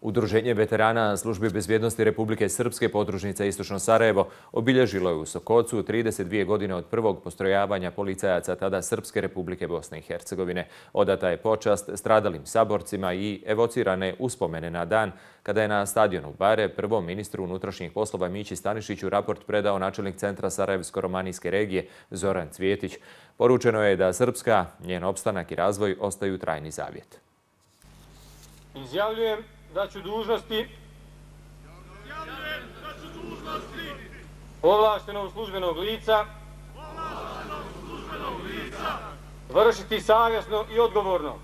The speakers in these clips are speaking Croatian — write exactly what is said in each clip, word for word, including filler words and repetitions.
Udruženje veterana službi bezbjednosti Republike Srpske podružnica Istočno Sarajevo obilježilo je u Sokocu trideset dvije godine od prvog postrojavanja policajaca tada Srpske Republike Bosne i Hercegovine. Odata je počast stradalim saborcima i evocirane uspomene na dan kada je na stadionu Bare prvom ministru unutrašnjih poslova Mići Stanišiću raport predao načelnik centra Sarajevsko-romanijske regije Zoran Cvjetić. Poručeno je da Srpska, njen opstanak i razvoj ostaju trajni zavjet. Izjavljujem da ću dužnosti ovlaštenog službenog lica vršiti savjesno i odgovorno.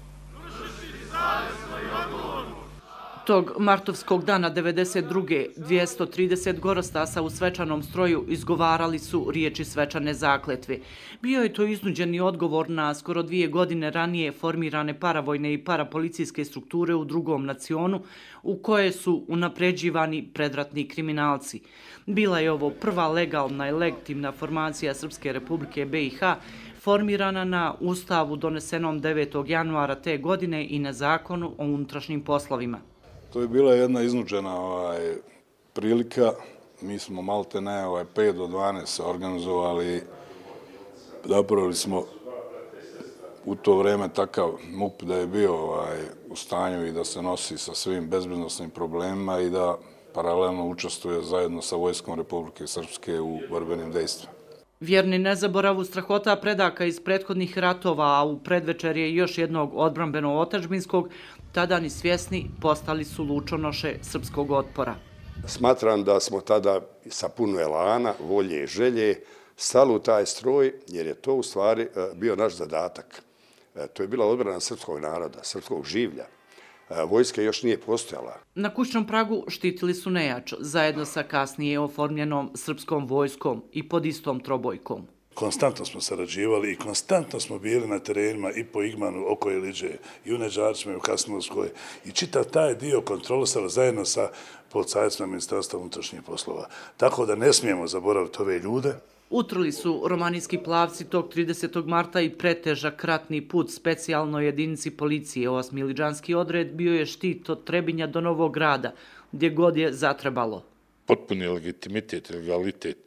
Tog martovskog dana devedeset druge dvjesto trideset gorostasa u svečanom stroju izgovarali su riječi svečane zakletve. Bio je to iznuđeni odgovor na skoro dvije godine ranije formirane paravojne i parapolicijske strukture u drugom nacionu u koje su unapređivani predratni kriminalci. Bila je ovo prva legalna i legitimna formacija Srpske Republike B i H formirana na Ustavu donesenom devetog januara te godine i na Zakonu o unutrašnjim poslovima. To je bila jedna iznuđena ovaj, prilika. Mi smo malte ne ovaj, pet do dvanaest se organizovali. Napravili smo u to vrijeme takav M U P da je bio ovaj, u stanju i da se nosi sa svim bezbednosnim problemima i da paralelno učestvuje zajedno sa Vojskom Republike Srpske u borbenim dejstvima. Vjerni nezaboravu strahota predaka iz prethodnih ratova, a u predvečerje još jednog odbrambeno-otadžbinskog, tada ni svjesni postali su lučonoše srpskog otpora. Smatram da smo tada sa puno elana, volje i želje stali u taj stroj, jer je to u stvari bio naš zadatak. To je bila odbrana srpskog naroda, srpskog življa. Vojska još nije postojala. Na kućnom pragu štitili su nejač, zajedno sa kasnije oformljenom srpskom vojskom i pod istom trobojkom. Konstantno smo sarađivali i konstantno smo bili na terenima i po Igmanu, oko Iliđe, i u Neđarčima i u Kasnovskoj. I čitav taj dio kontrolisali zajedno sa policajcima Ministarstva unutrašnjih poslova. Tako da ne smijemo zaboraviti ove ljude. Utrli su romanijski plavci tog tridesetog marta i pretežak ratni put specijalnoj jedinici policije. Osmiliđanski odred bio je štit od Trebinja do Novog Grada, gdje god je zatrebalo. Potpuni legitimitet, legalitet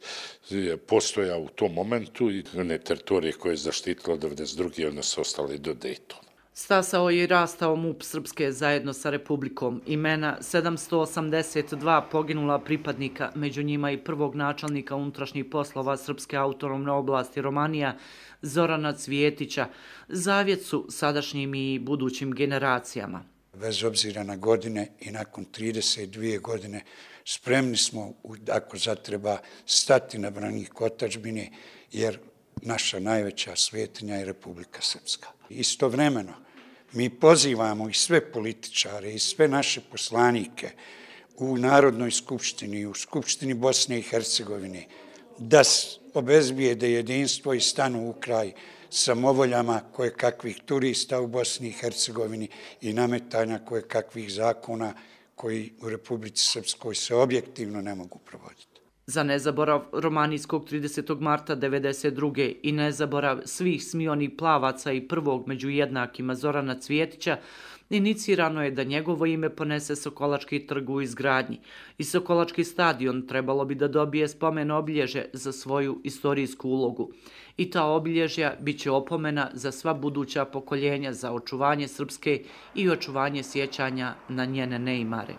je postojao u tom momentu i one teritorije koje je zaštitilo devedeset druge one su ostale do Dejtona. Stasao je i rastao M U P Srpske zajedno sa Republikom. Imena sedamsto osamdeset dva poginula pripadnika, među njima i prvog načelnika unutrašnjih poslova Srpske autonomne oblasti Romanija, Zorana Cvjetića, zavjet su sadašnjim i budućim generacijama. Bez obzira na godine i nakon trideset dvije godine spremni smo, ako zatreba, stati na branik otadžbine, jer naša najveća svetinja je Republika Srpska. Istovremeno, mi pozivamo i sve političare i sve naše poslanike u Narodnoj skupštini i u Skupštini Bosne i Hercegovine da obezbijede jedinstvo i stanu u kraj samovoljama kojekakvih turista u Bosni i Hercegovini i nametanja kojekakvih zakona koji u Republici Srpskoj se objektivno ne mogu provoditi. Za nezaborav romanijskog tridesetog marta devedeset druge i nezaborav svih smionih plavaca i prvog među jednakima Zorana Cvjetića, inicirano je da njegovo ime ponese Sokolački trg u izgradnji i Sokolački stadion trebalo bi da dobije spomen obilježje za svoju istorijsku ulogu. I ta obilježja bit će opomena za sva buduća pokoljenja za očuvanje Srpske i očuvanje sjećanja na njene neimare.